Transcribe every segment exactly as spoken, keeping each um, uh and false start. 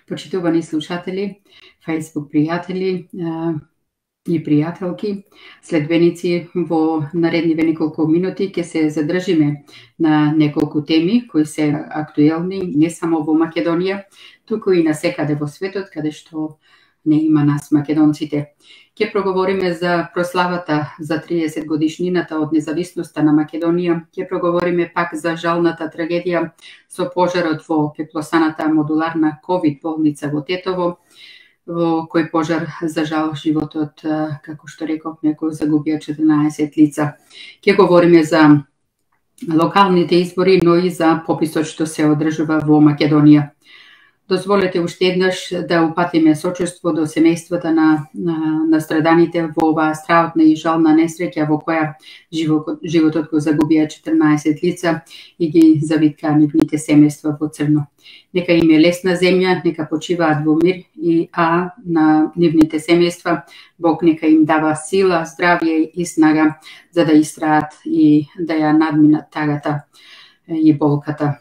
Почитувани слушатели, Facebook пријатели и пријателки, следбеници, во наредниве неколку минути ќе се задржиме на неколку теми кои се актуелни не само во Македонија, туку и насекаде во светот, каде што не има нас македонците. Ќе проговориме за прославата за триесет годишнината од независноста на Македонија, ќе проговориме пак за жалната трагедија со пожарот во пеплосаната модуларна ковид болница во Тетово, во кој пожар за жал животот, како што реков, некој загубија четрнаесет лица. Ќе говориме за локалните избори, но и за пописот што се одржува во Македонија. Дозволете уште еднаш да упатиме сочувство до семејствата на, на, на страданите во оваа страутна и жална несреќа во која живот, животот го загубија четрнаесет лица и ги завиткаа нивните семејства во црно. Нека им е лесна земја, нека почиваат во мир и а на нивните семејства Бог нека им дава сила, здравје и снага за да истраат и да ја надминат тагата и болката.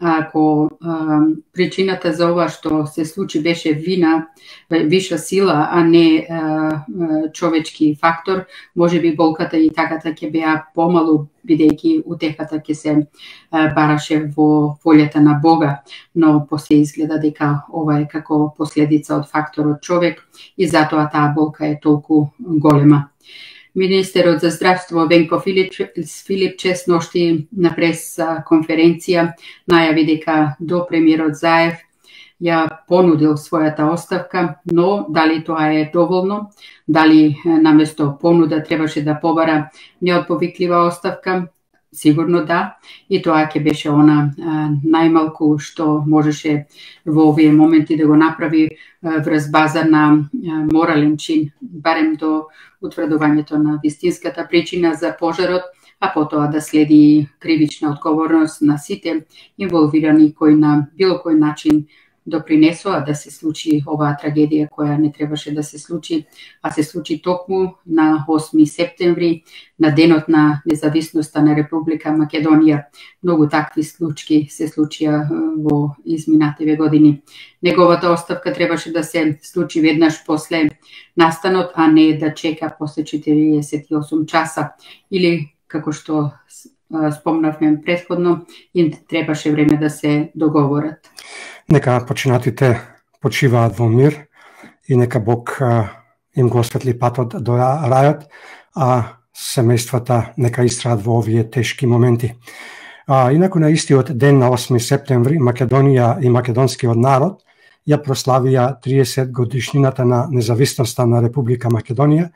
Ако а, причината за ова што се случи беше вина, виша сила, а не а, човечки фактор, може би болката и тагата ќе беа помалу, бидејќи утехата ќе се а, бараше во волјата на Бога, но после изгледа дека ова е како последица од факторот човек и затоа таа болка е толку голема. Министерот за здравство Венко Филипче сношти на прес конференција најави дека до премиерот Заев ја понудил својата оставка, но дали тоа е доволно, дали наместо понуда требаше да побара неотповиклива оставка, сигурно да, и тоа ќе беше она а, најмалку што можеше во овие моменти да го направи а, врз база на а, морален чин, барем до утврдувањето на вистинската причина за пожарот, а потоа да следи кривична одговорност на сите инволвирани кои на било кој начин допринесоа да се случи оваа трагедија која не требаше да се случи, а се случи токму на осми септември, на денот на независноста на Република Македонија. Многу такви случаи се случија во изминативе години. Неговата оставка требаше да се случи веднаш после настанот, а не да чека после четириесет и осум часа. Или, како што спомнавме предходно, им требаше време да се договорат. Нека починатите почиваат во мир и нека Бог а, им го осветли патот до рајот, а семејствата нека истраат во овие тешки моменти. А, инаку на истиот ден на осми септември Македонија и македонскиот народ ја прославија триесет годишнината на независноста на Република Македонија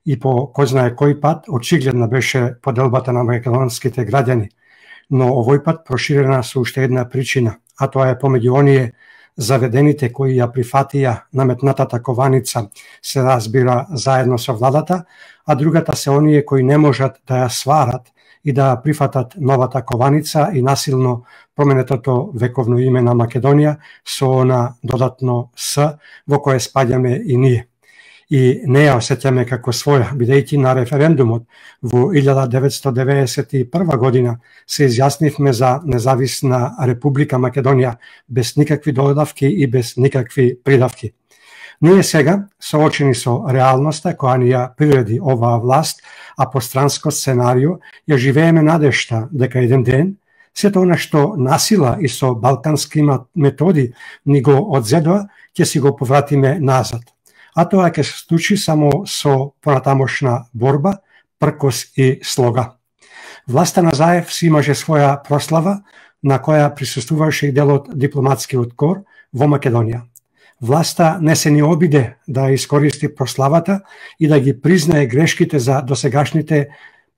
и по кој знае кој пат очигледна беше поделбата на македонските граѓани, но овој пат проширена со уште една причина, а тоа е помеѓу оние заведените кои ја прифатија наметнатата кованица се разбира заедно со владата, а другата се оние кои не можат да ја сварат и да прифатат новата кованица и насилно променетото вековно име на Македонија со она додатно С во кое спаѓаме и ние. И не ја осеќаме како своја, бидејќи на референдумот во илјада деветстотини деветдесет и прва година се изјаснивме за независна Република Македонија без никакви додавки и без никакви придавки. Ние сега, соочени со реалноста која ни ја приреди оваа власт, а по странско сценарио, ја живееме надежта дека еден ден сето она што насила и со балкански методи ни го одзедоа, ќе си го повратиме назад. А тоа ќе се случи само со понатамошна борба, пркос и слога. Власта на Заев си имаше своја прослава на која присуствуваше и дел од дипломатскиот кор во Македонија. Власта не се ни обиде да искористи прославата и да ги признае грешките за досегашните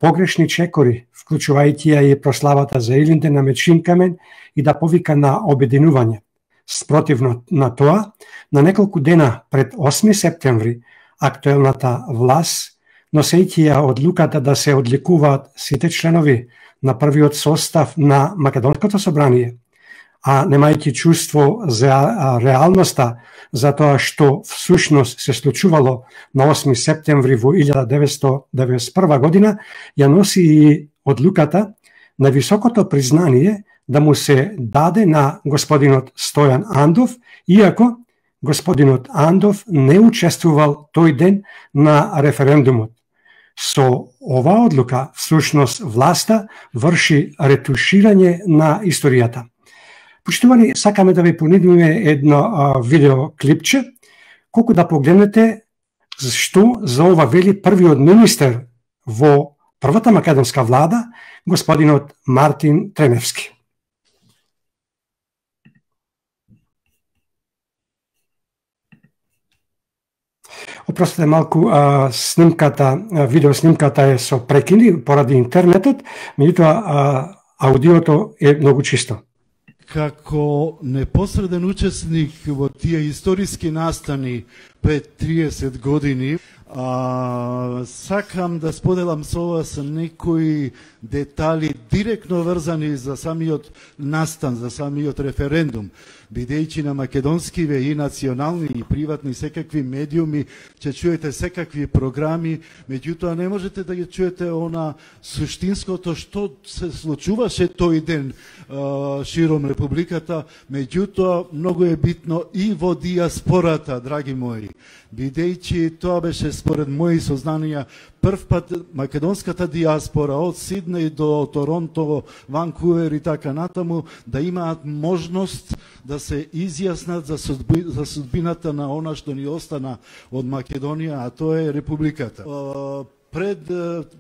погрешни чекори, вклучувајќи ја и прославата за Илинте на Мечинкамен и да повика на обединување. Спротивно на тоа, на неколку дена пред осми септември, актуелната власт, носејќи ја одлуката да се одликуваат сите членови на првиот состав на Македонското собрание, а немајќи чувство за реалноста за тоа што всушност се случувало на осми септември во илјада деветстотини деветдесет и прва година, ја носи и одлуката на високото признание да му се даде на господинот Стојан Андов, иако господинот Андов не учествувал тој ден на референдумот. Со оваа одлука, всушност, власта врши ретуширање на историјата. Почитувани, сакаме да ви понудиме едно а, видеоклипче, колку да погледнете што за ова вели првиот министер во првата македонска влада, господинот Мартин Треневски. Опростете малку, а, снимката, а, видеоснимката е со прекини поради интернетот, меѓутоа аудиото е многу чисто. Како непосреден учесник во тие историски настани пред триесет години, а, сакам да споделам со вас некои детали директно врзани за самиот настан, за самиот референдум, бидејќи на македонскиве и национални и приватни секакви медиуми ќе чуете секакви програми, меѓутоа не можете да ги чуете она суштинското што се случуваше тој ден а, широм републиката, меѓутоа многу е битно и во диаспората, драги мои, бидејќи тоа беше според мои сознанија прв пат македонската диаспора од Сиднеј до Торонто, Ванкувер и така натаму да имаат можност да се изјаснат за, судби, за судбината на она што ни остана од Македонија, а тоа е републиката. Пред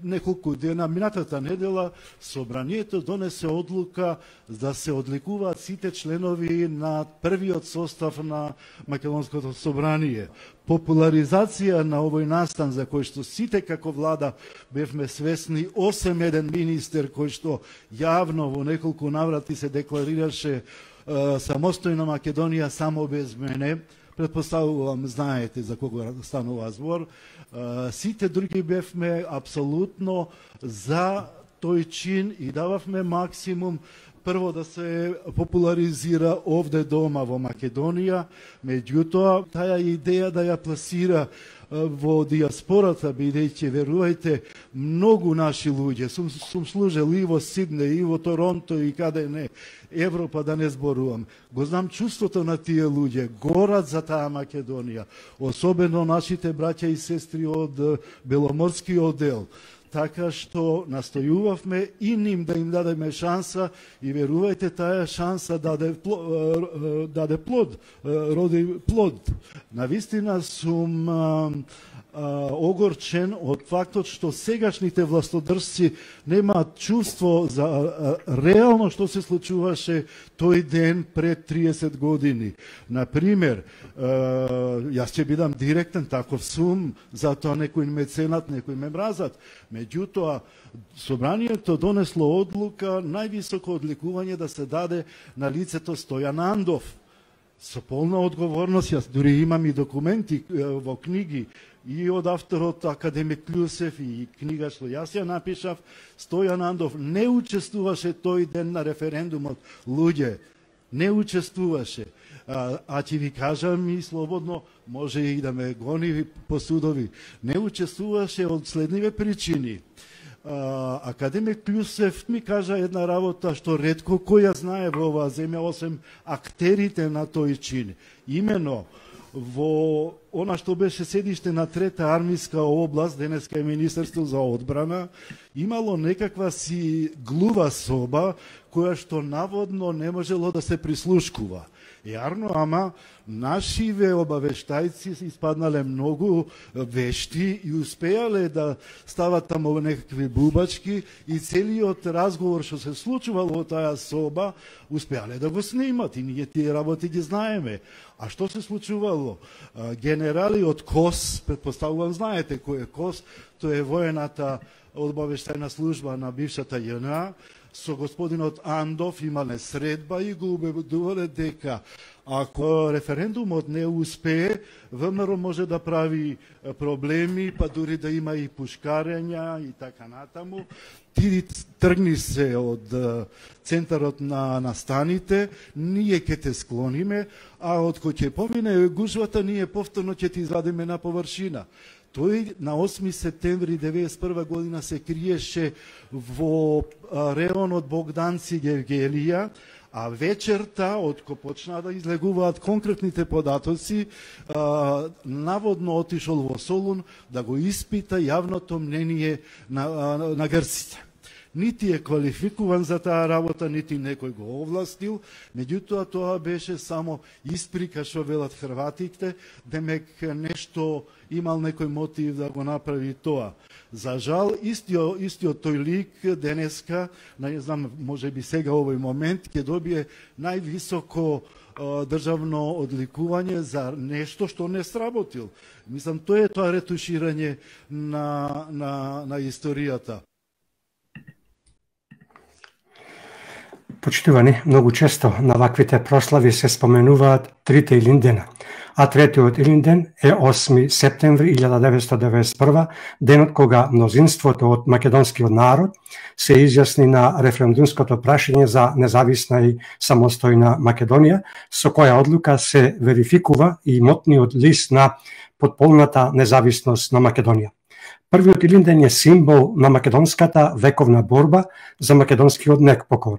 неколку дена, минатата недела, собранието донесе одлука да се одликуваат сите членови на првиот состав на Македонското собрание. Популаризација на овој настан за кој што сите како влада бевме свесни, осем еден министер кој што јавно во неколку наврати се декларираше е, самостојна Македонија само без мене, предпоставувам знаете за кого станува збор, сите други бевме апсолутно за тој чин и дававме максимум прво да се популаризира овде дома во Македонија, меѓутоа таа идеја да ја пласира во диаспората, бидејќи верувајте, многу наши луѓе, сум, сум служел и во Сиднеј, и во Торонто, и каде не, Европа да не зборувам. Го знам чувството на тие луѓе, горат за таа Македонија, особено нашите браќа и сестри од Беломорскиот дел. Така што настојувавме и ним да им дадеме шанса и верувајте, таа шанса даде, даде плод, роди плод. Навистина сум а, а, огорчен од фактот што сегашните властодржци немаат чувство за а, реално што се случуваше тој ден пред триесет години. Например, а, јас ќе бидам директен, таков сум, затоа некој ме ценат, некој ме мразат. Меѓутоа, собранието донесло одлука највисоко одликување да се даде на лицето Стојан Андов. Со полна одговорност, јас дури имам и документи во книги и од авторот академик Клюсев и книга што јас ја напишав, Стојан Андов не учествуваше тој ден на референдумот. Луѓе, не учествуваше. А, а ќе ви кажам и слободно, може и да ме гони по судови, не учествуваше од следниве причини. А, академик Клюсев ми кажа една работа што ретко кој ја знае во оваа земја, осем актерите на тој чин. Имено, во она што беше седиште на трета армиска област, денеска е Министерство за одбрана, имало некаква си глува соба која што наводно не можело да се прислушкува. Јарно, ама нашиве обавештајци испаднале многу вешти и успеале да стават тамо некакви бубачки и целиот разговор што се случувал во таа соба успеале да го снимат и ние тие работи ги знаеме. А што се случувало? Генерали од КОС, предпоставувам знаете кој е КОС, тоа е воената обавештајна служба на бившата ЈНА, со господинот Андов имале средба и го убедувале дека ако референдумот не успее, ВМРО може да прави проблеми, па дури да има и пушкарења и така натаму. Ти тргни се од центарот на настаните, ние ќе те склониме, а од кој ќе помине гужвата, ние повторно ќе ти извадиме на површина. Тој на осми септември деветдесет и прва година се криеше во реонот Богданци Гевгелија, А вечерта, откако почнаа да излегуваат конкретните податоци, а, наводно отишол во Солун да го испита јавното мнение на, на, на грците. Нити е квалификуван за таа работа, нити некој го овластил, меѓутоа тоа беше само исприка што велат хрватите, демек нешто имал некој мотив да го направи тоа. За жал, истиот, истиот тој лик денеска, не знам, може би сега овој момент, ќе добие највисоко државно одликување за нешто што не сработил. Мислам, тоа е тоа ретуширање на, на, на историјата. Почитувани, многу често на ваквите прослави се споменуваат трите Илиндена, а третиот Илинден е осми септември илјада деветстотини деветдесет и прва, денот кога мнозинството од македонскиот народ се изјасни на референдумското прашање за независна и самостојна Македонија, со која одлука се верификува и имотниот лист на потполната независност на Македонија. Првиот Илинден е символ на македонската вековна борба за македонскиот некпокор,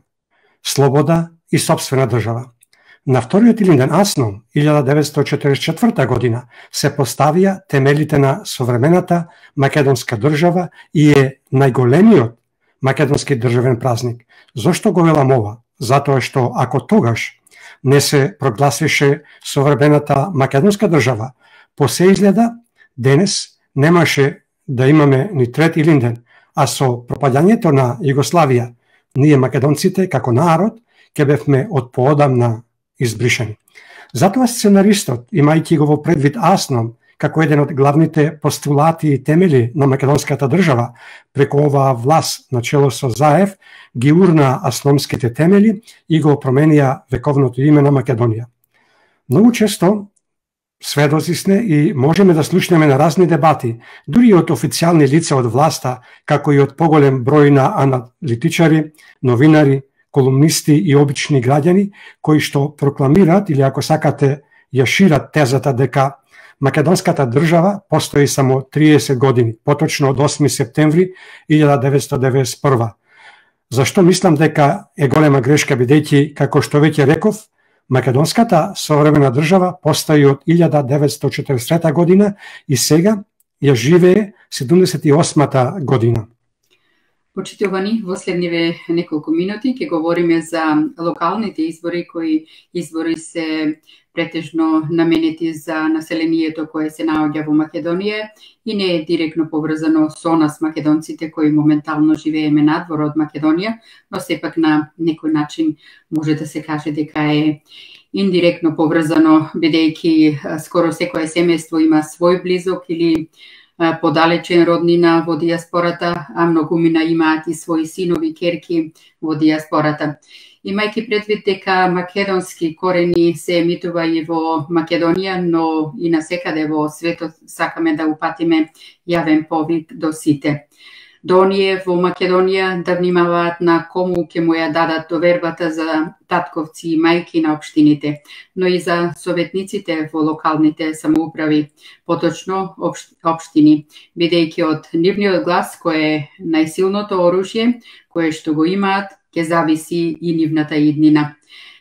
слобода и сопствена држава. На вториот Илинден Аснон, илјада деветстотини четиридесет и четврта година, се поставија темелите на современата македонска држава и е најголемиот македонски државен празник. Зошто го велам ова? Затоа што ако тогаш не се прогласише современата македонска држава, по се изгледа денес немаше да имаме ни трети Илинден, а со пропаѓањето на Југославија, ние македонците како народ ќе бевме од поодамна избришани. Затоа сценаристот, имајќи го во предвид Аснон како еден од главните постулати и темели на македонската држава, преку оваа власт на чело со Заев, ги урна асномските темели и го променија вековното име на Македонија. Многу често сведоци сме и можеме да слушнеме на разни дебати, дури од официјални лица од власта, како и од поголем број на аналитичари, новинари, колумнисти и обични граѓани, кои што прокламираат или ако сакате ја шират тезата дека македонската држава постои само триесет години, поточно од осми септември илјада деветстотини деветдесет и прва. Зашто мислам дека е голема грешка, бидејќи, како што веќе реков, македонската современа држава постои од илјада деветстотини четиридесет и трета година и сега ја живее седумдесет и осмата година. Почитувани, во следниве неколку минути ќе говориме за локалните избори, кои избори се претежно наменети за населението кое се наоѓа во Македонија и не е директно поврзано со нас македонците кои моментално живееме надвор од Македонија, но сепак на некој начин може да се каже дека е индиректно поврзано, бидејќи скоро секое семејство има свој близок или подалечен роднина во диаспората, а многумина имаат и своји синови, керки во диаспората. Имајќи предвид дека македонски корени се емитува и во Македонија, но и насекаде во светот, сакаме да упатиме јавен повик до сите. До оние во Македонија да внимаваат на кому ќе му ја дадат довербата за татковци и мајки на општините, но и за советниците во локалните самоуправи, поточно општини, бидејќи од нивниот глас кој е најсилното оружје, кое што го имаат, ќе зависи и нивната иднина.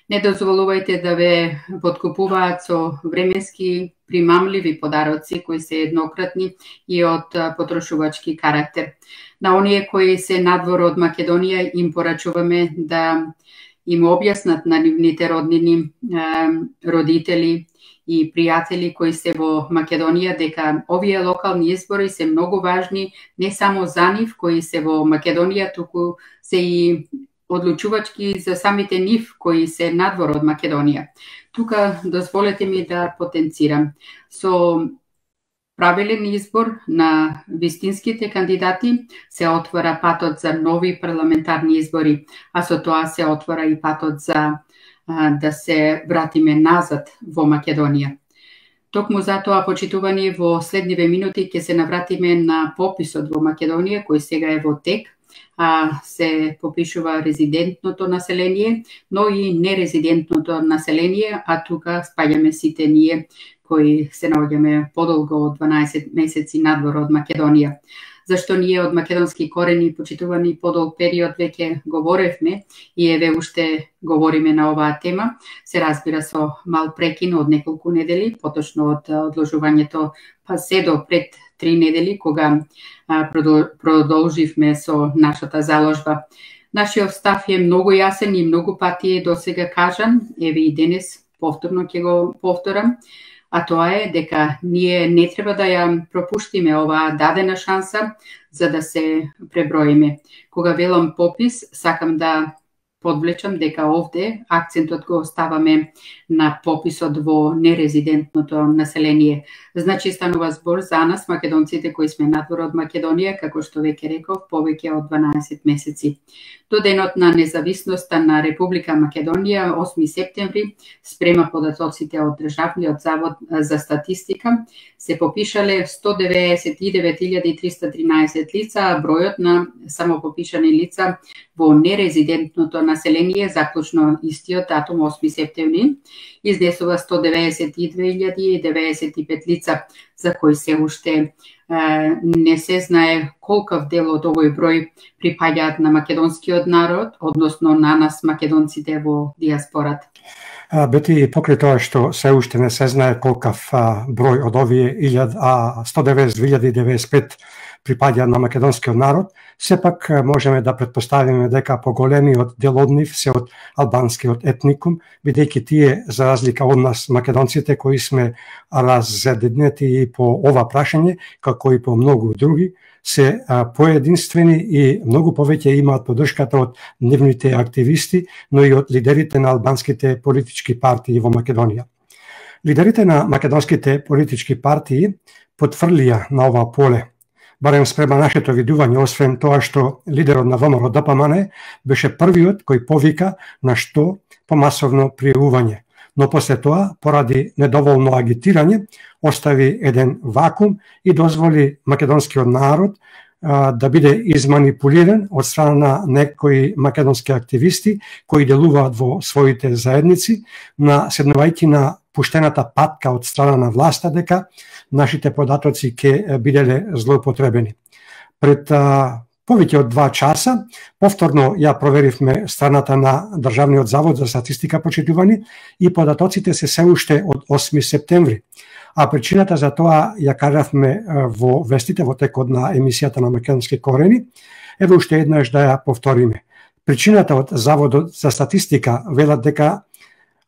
Не дозволувајте да ве подкупуваат со временски примамливи подароци кои се еднократни и од потрошувачки карактер. На оние кои се надвор од Македонија им порачуваме да им објаснат на нивните роднини, родители и пријатели кои се во Македонија дека овие локални избори се многу важни не само за нив кои се во Македонија, туку се и одлучувачки за самите нив кои се надвор од Македонија. Тука дозволете ми да потенцирам. Со правилен избор на вистинските кандидати се отвора патот за нови парламентарни избори, а со тоа се отвора и патот за а, да се вратиме назад во Македонија. Токму затоа, почитувани, во следниве минути ќе се навратиме на пописот во Македонија, кој сега е во тек, а се попишува резидентното население, но и нерезидентното население, а тука спаѓаме сите ние кои се наоѓаме подолго од дванаесет месеци надвор од Македонија. зашто ние од македонски корени почитувани подолг период веќе говоревме и еве уште говориме на оваа тема. Се разбира со мал прекин од неколку недели, поточно од одложувањето па се до пред три недели, кога продолживме со нашата заложба. Нашиот став е многу јасен и многу пати е досега кажан, еве и денес повторно ќе го повторам, а тоа е дека ние не треба да ја пропуштиме оваа дадена шанса за да се преброиме. Кога велам попис, сакам да подвлечам дека овде акцентот го оставаме на пописот во нерезидентното население. Значи станува збор за нас, македонците кои сме надвор од Македонија, како што веќе реков, повеќе од дванаесет месеци. До денот на независноста на Република Македонија, осми септември, спрема податоците од Државниот завод за статистика, се попишале сто деветдесет и девет илјади триста тринаесет лица, а бројот на самопопишани лица во нерезидентното население, заклучно истиот датум осми септември, изнесува сто деветдесет и две илјади деветдесет и пет лица, за кои се уште е, не се знае колкав дел од овој број припаѓаат на македонскиот народ, односно на нас македонците во диаспората. Бети, покрај тоа што се уште не се знае колкав а, број од овие сто деветдесет илјади деветдесет и пет припаѓаат на македонскиот народ, сепак можеме да претпоставиме дека поголемиот дел од нив се од албанскиот етникум, бидејќи тие, за разлика од нас македонците, кои сме разединети и по ова прашање, како и по многу други, се поединствени и многу повеќе имаат поддршката од нивните активисти, но и од лидерите на албанските политички партии во Македонија. Лидерите на македонските политички партии потврлија на ова поле, барем спрема нашето видување, освен тоа што лидерот на ВМРО Д П М Н беше првиот кој повика на што помасовно пријавување, но после тоа, поради недоволно агитирање, остави еден вакуум и дозволи македонскиот народ а, да биде изманипулиран од страна на некои македонски активисти кои делуваат во своите заедници, на седнувајќи на пуштената патка од страна на власта дека нашите податоци ќе биделе злоупотребени. Пред а, повеќе од два часа, повторно ја проверивме страната на Државниот завод за статистика, почитувани, и податоците се се уште од осми септември. А причината за тоа ја кажавме во вестите во текот на емисијата на Македонски корени. Еве уште еднаш да ја повториме. Причината од Заводот за статистика велат дека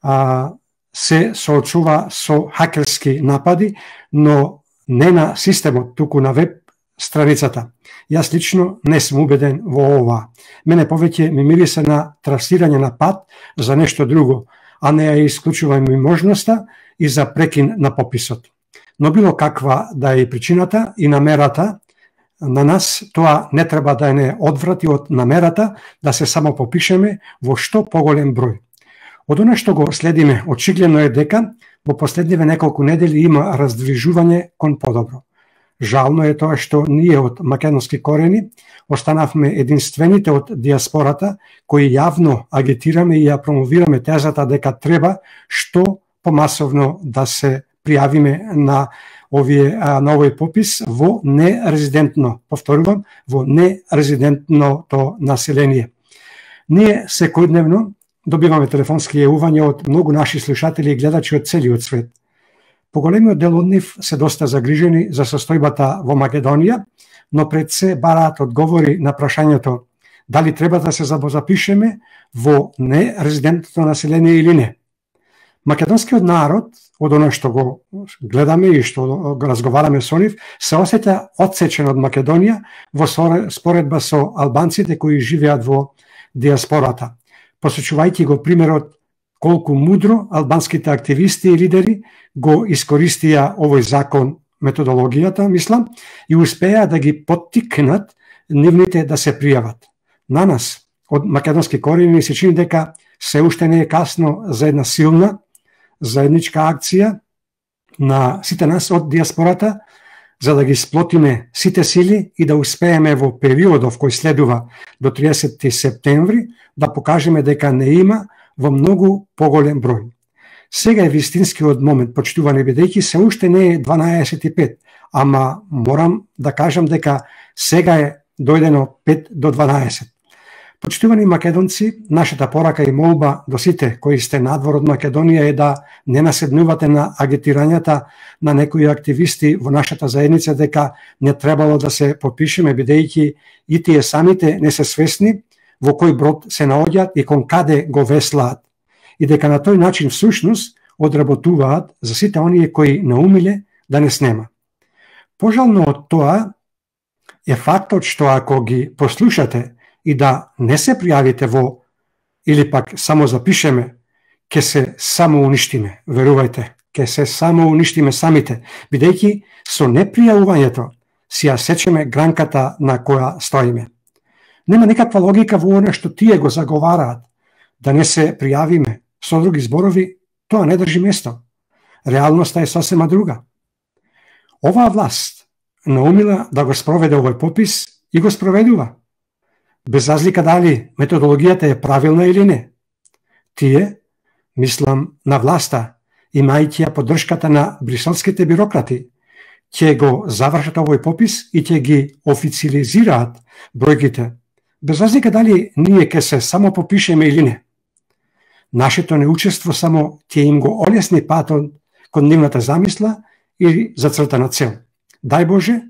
а, се соочува со хакерски напади, но не на системот, туку на веб страницата. Јас лично не сум убеден во ова. Мене повеќе ми мирисе на трасирање на пат за нешто друго, а не ја исклучувам и можноста и за прекин на пописот. Но било каква да е причината и намерата, на нас тоа не треба да не одврати од намерата да се само попишеме во што поголем број. Од она што го следиме, очигледно е дека во последниве неколку недели има раздвижување кон подобро. Жално е тоа што ние од македонски корени останавме единствените од диаспората кои јавно агитираме и ја промовираме тезата дека треба што помасовно да се пријавиме на овие на овој попис во нерезидентно, повторувам, во нерезидентното население. Ние секојдневно добиваме телефонски јавувања од многу наши слушатели и гледачи од целиот свет. Поголемиот дел од нив се доста загрижени за состојбата во Македонија, но пред се бараат одговори на прашањето дали треба да се запишеме во нерезидентното население или не. Македонскиот народ, од оно што го гледаме и што го разговараме со нив, се осеќа отсечен од Македонија во споредба со албанците кои живеат во диаспората. Посочувајќи го примерот колку мудро албанските активисти и лидери го искористија овој закон, методологијата, мислам, и успеа да ги поттикнат нивните да се пријават. На нас, од македонски корени, се чини дека се уште не е касно за една силна заедничка акција на сите нас од диаспората, за да ги сплотиме сите сили и да успееме во периодов кој следува до триесетти септември да покажеме дека не има во многу поголем број. Сега е вистинскиот момент, почитувани, бидејќи се уште не е дванаесет и пет, ама морам да кажам дека сега е дојдено пет до дванаесет. Почитувани македонци, нашата порака и молба до сите кои сте надвор од Македонија е да не наседнувате на агитирањата на некои активисти во нашата заедница дека не требало да се подпишеме, бидејќи и тие самите не се свесни во кој брод се наоѓаат и кон каде го веслаат. И дека на тој начин всушност одработуваат за сите оние кои наумиле да не снема. Пожално од тоа е фактот што ако ги послушате и да не се пријавите во, или пак само запишеме, ќе се само уништиме. Верувајте, ќе се само уништиме самите, бидејќи со непријавувањето си ја сечеме гранката на која стоиме. Нема никаква логика во она што тие го заговараат, да не се пријавиме. Со други зборови, тоа не држи место. Реалноста е сосема друга. Оваа власт наумила да го спроведе овој попис и го спроведува. Без разлика дали методологијата е правилна или не. Тие, мислам на власта, имајќи ја поддршката на бриселските бирократи, ќе го завршат овој попис и ќе ги официализираат бројките, без разлика дали ние ќе се само попишеме или не. Нашето неучество само ќе им го олесни патот кон нивната замисла или зацртана цел. Дај Боже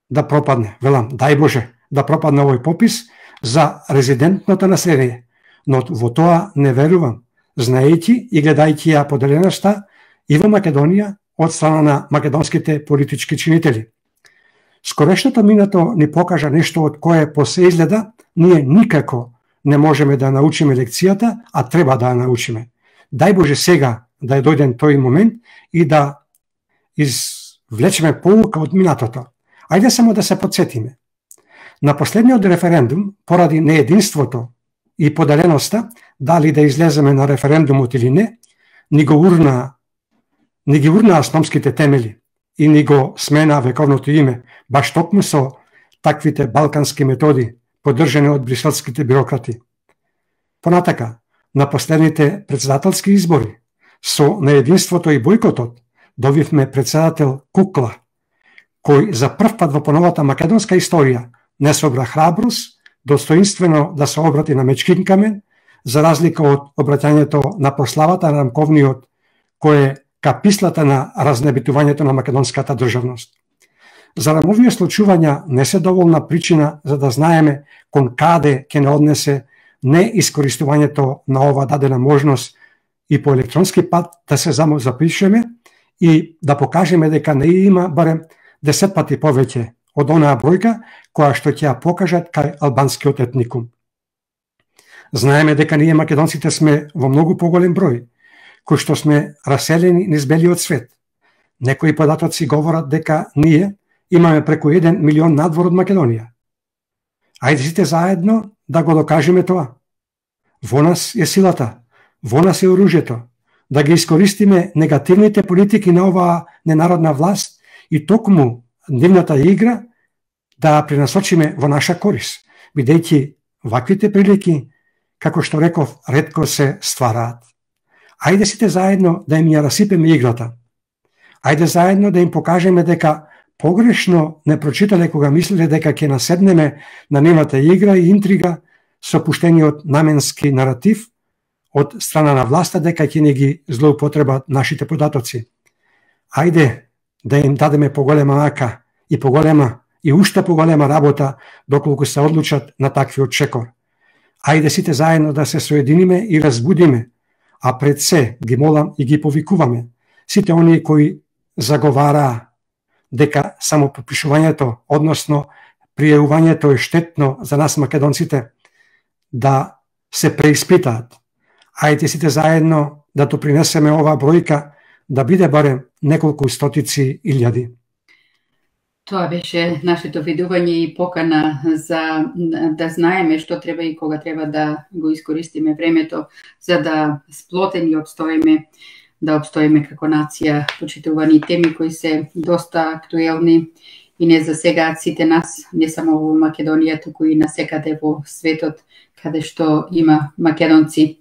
да пропадне, велам, дај Боже да пропадне овој попис за резидентното население, но во тоа не верувам, знаејќи и гледајќи ја поделеноста и во Македонија од страна на македонските политички чинители. Скорешното минато ни покажа нешто од кое по се изгледа ние никако не можеме да научиме лекцијата, а треба да ја научиме. Дај Боже сега да е дојден тој момент и да извлечеме поука од минатото. Ајде само да се подсетиме. На последниот референдум, поради неединството и поделеноста, дали да излеземе на референдумот или не, ни го урна, ни ги урна основските темели и ни го смена вековното име, баш токму со таквите балкански методи, поддржани од бриселските бюрократи. Понатака, на последните председателски избори, со неединството и бојкотот, добивме председател Кукла, кој за прв пат во поновата македонска историја не собра храброст, достоинствено да се обрати на Мечкин камен, за разлика од обраќањето на прославата на Рамковниот, кој е капислата на разнебитувањето на македонската државност. Зарем овие случувања не се доволна причина за да знаеме кон каде ќе не однесе неискористувањето на ова дадена можност и по електронски пат да се само запишеме и да покажеме дека не има барем десет пати повеќе од онаа бројка која што ќе ја покажат кај албанскиот етникум. Знаеме дека ние македонците сме во многу поголем број, кои што сме раселени низ белиот свет. Некои податоци говорат дека ние имаме преку еден милион надвор од Македонија. Ајде сите заедно да го докажеме тоа. Во нас е силата, во нас е оружјето, да ги искористиме негативните политики на оваа ненародна власт и токму нивната игра да ја пренасочиме во наша корис, бидејќи ваквите прилики, како што реков, ретко се ствараат. Ајде сите заедно да им ја расипеме играта. Ајде заедно да им покажеме дека погрешно не прочитале кога мислеле дека ќе наседнеме на нивната игра и интрига со пуштениот наменски наратив од страна на власта дека ќе не ги злоупотребат нашите податоци. Ајде да им дадеме поголема мака и поголема и уште поголема работа доколку се одлучат на таквиот чекор. Ајде сите заедно да се соединиме и разбудиме, а пред се ги молам и ги повикуваме сите оние кои заговараа дека само попишувањето, односно пријавувањето е штетно за нас македонците, да се преиспитаат. Ајде сите заедно да допринесеме оваа бројка да биде барем неколку стотици илјади. Тоа беше нашето видување и покана за да знаеме што треба и кога треба да го искористиме времето за да сплотени обстоиме, да обстоиме како нација, почитувани теми кои се доста актуелни и не засегаат сите нас, не само во Македонија, туку и насекаде во светот каде што има македонци.